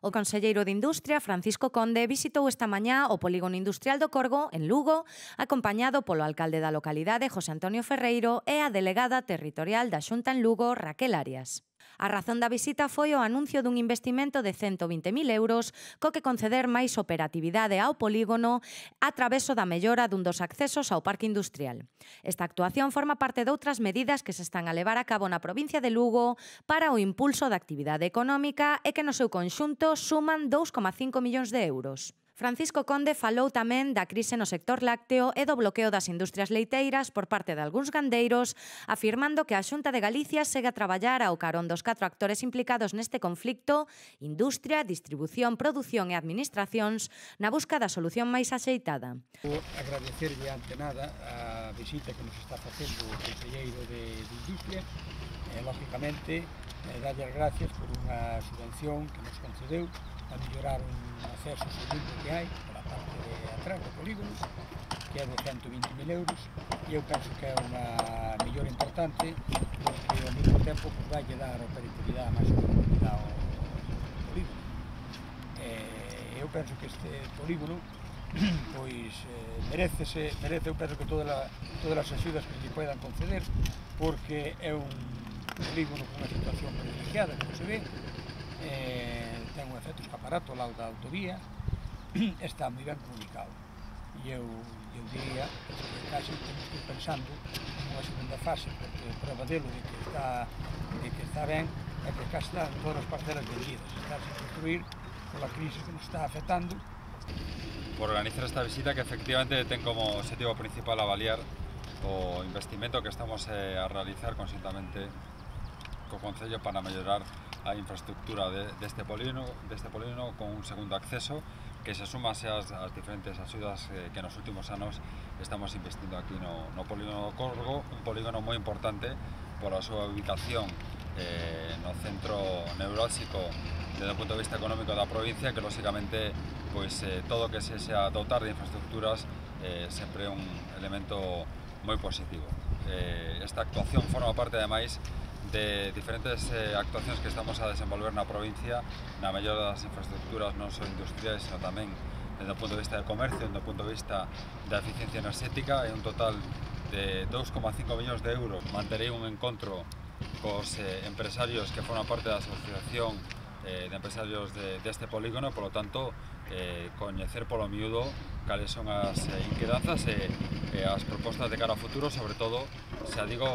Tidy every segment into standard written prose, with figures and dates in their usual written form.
O conselleiro de Industria, Francisco Conde, visitou esta mañá o Polígono Industrial do Corgo, en Lugo, acompañado polo alcalde da localidade, José Antonio Ferreiro, e a delegada territorial da Xunta en Lugo, Raquel Arias. A razón da visita foi o anuncio dun investimento de 120.000 euros co que conceder máis operatividade ao polígono a traveso da mellora dun dos accesos ao parque industrial. Esta actuación forma parte de outras medidas que se están a levar a cabo na provincia de Lugo para o impulso da actividade económica e que no seu conxunto suman 2,5 millóns de euros. Francisco Conde falou tamén da crise no sector lácteo e do bloqueo das industrias leiteiras por parte de algúns gandeiros, afirmando que a Xunta de Galicia segue a traballar ao carón dos 4 actores implicados neste conflicto, industria, distribución, produción e administracións, na busca da solución máis axeitada. Agradecerlle ante nada a visita que nos está facendo o conselleiro de Industria e, lógicamente, darlle as gracias por unha subvención que nos concedeu a mellorar un acceso segundo que hai pola parte de atrás do polígono, que é de 120.000 euros, e eu penso que é unha mellora importante porque ao mesmo tempo vai dar operatividade máis oportunidade ao polígono. Eu penso que este polígono pois merece, eu penso que todas as axudas que lle poidan conceder, porque é un polígono con unha situación privilegiada, como se ve, ten un efecto escaparato ao lado da autovía, está moi ben comunicado. E eu diría que casi temos que ir pensando nunha segunda fase, porque prova delo de que está ben é que casi están todas as parcelas vendidas, está sin construir pola crise que nos está afectando. Por organizar esta visita que efectivamente ten como objetivo principal avaliar o investimento que estamos a realizar conxuntamente co Concello para mellorar a infraestructura deste polígono con un segundo acceso que se suma ás diferentes axudas que nos últimos anos estamos investindo aquí no polígono do Corgo, un polígono moi importante pola súa ubicación no centro neurálxico desde o punto de vista económico da provincia, que lógicamente pois todo o que se xa dotar de infraestructuras sempre é un elemento moi positivo. Esta actuación forma parte ademais de diferentes actuacións que estamos a desenvolver na provincia na mellora das infraestructuras non só industriais, sino tamén desde o punto de vista do comercio, desde o punto de vista da eficiencia enerxética. É un total de 2,5 millóns de euros. Manterei un encontro cos empresarios que forman parte da asociación de empresarios deste polígono, polo tanto, coñecer polo miúdo cales son as inquedanzas e as propostas de cara ao futuro, sobre todo, xa digo,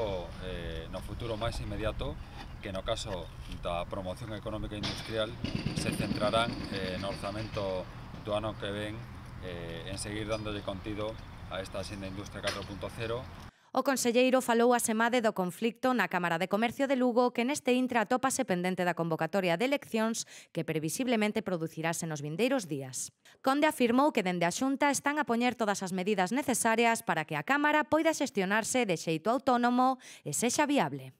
no futuro máis inmediato, que no caso da promoción económica e industrial se centrarán no orzamento do ano que ven en seguir dándolle contido a esta Axenda Industria 4.0. O conselleiro falou asemade do conflicto na Cámara de Comercio de Lugo, que neste intre atópase pendente da convocatoria de eleccións que previsiblemente producirase nos vindeiros días. Conde afirmou que dende a Xunta están a poñer todas as medidas necesarias para que a Cámara poida xestionarse de xeito autónomo e sexa viable.